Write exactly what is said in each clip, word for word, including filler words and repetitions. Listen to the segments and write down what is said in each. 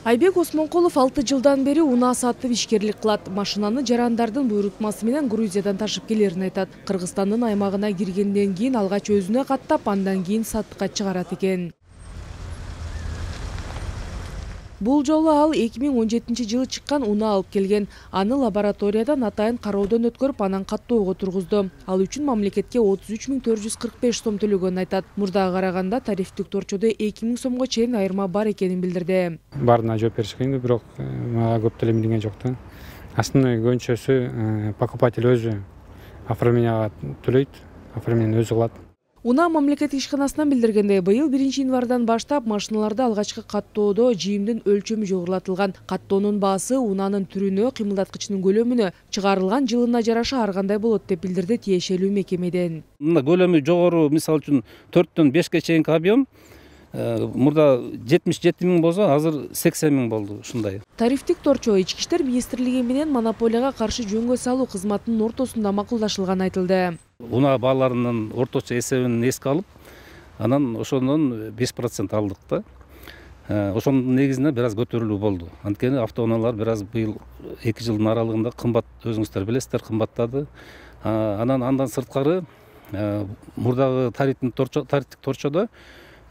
Айбек Осмонкулов алты жылдан бери унаа сатып ишкерлик кылат. Машинаны жарандардын буйрутмасы менен Грузиядан ташып келерин айтат. Кыргызстандын аймагына киргенден кийин алгач өзүнө каттап, андан кийин сатыкка чыгарат экен. Бул жолу ал эки миң он жетинчи жылы чыккан унаа алып келген. Аны лабораториядан атайын кароодон өткөрүп, анан каттоого тургузду. Ал үчүн мамлекетке отуз үч миң төрт жүз кырк беш сом төлөгөнүн айтат. Мурдага караганда тарифтик торчодо эки миң сомго чейин айырма бар экенин билдирди. Баарына жооп бериш кыйын, бирок мага көп төлөмдөгөн жок да. Основной көөнчөсү покупатель өзү оформленияга төлөйт, оформление өзү кылат. Унаа мамлекеттик ишканасынан билдиргендей, быйыл биринчи январдан баштап машиналарды алгачкы каттоодо жийимдин өлчөмү жогорулатылган. Каттоонун баасы унаанын түрүнө, кыймылдаткычынын көлөмүнө, чыгарылган жылына жараша ар кандай болот деп билдирди тиешелүү мекемеден. Мына көлөмү жогору, мисалы үчүн төрттөн бешке чейинки объем мурда жетимиш жети миң болсо, азыр сексен миң болду ушундай. Тарифтик торчо Ички иштер министрлиги менен монополияга каршы жөнгө салуу кызматынын ортосунда макулдашылганы айтылды. Унаа бааларынын орточо эсебин эске алып, анан ошондон беш процент алдык да. Ошонун негизинде бир аз көтөрүлүү болду. Анткени автоунаалар бир аз быйыл эки жылдын аралыгында кымбат, өзүңүздөр билесиздер, кымбаттады. Анан андан сырткары мурдагы тарифтик торчо, тарифтик торчодо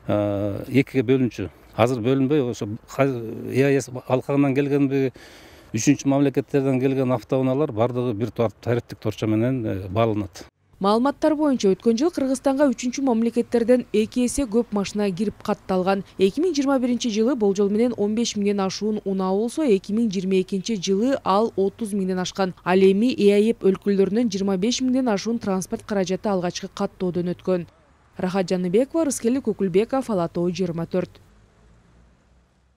экиге бөлүнчү. Азыр бөлүнбөй, ошо ЭАЭС алкагынан келгенби, үчүнчү мамлекеттерден келген автоунаалар бардыгы бир тарифтик торчо менен бааланат. Маалыматтар боюнча өткөн жыл Кыргызстанга үчүнчү мамлекеттерден эки эсе көп машина кирип катталган. эки миң жыйырма биринчи жылы болжол менен он беш миңден ашуун унаа болсо, эки миң жыйырма экинчи жылы ал отуз миңден ашкан. Ал эми ЭАЭП өлкөлөрүнөн жыйырма беш миңден ашуун транспорт каражаты алгачкы каттоодон өткөн. Рахат Жаныбекова, Рыскелди Көкүлбеков, Ала Тоо жыйырма төрт.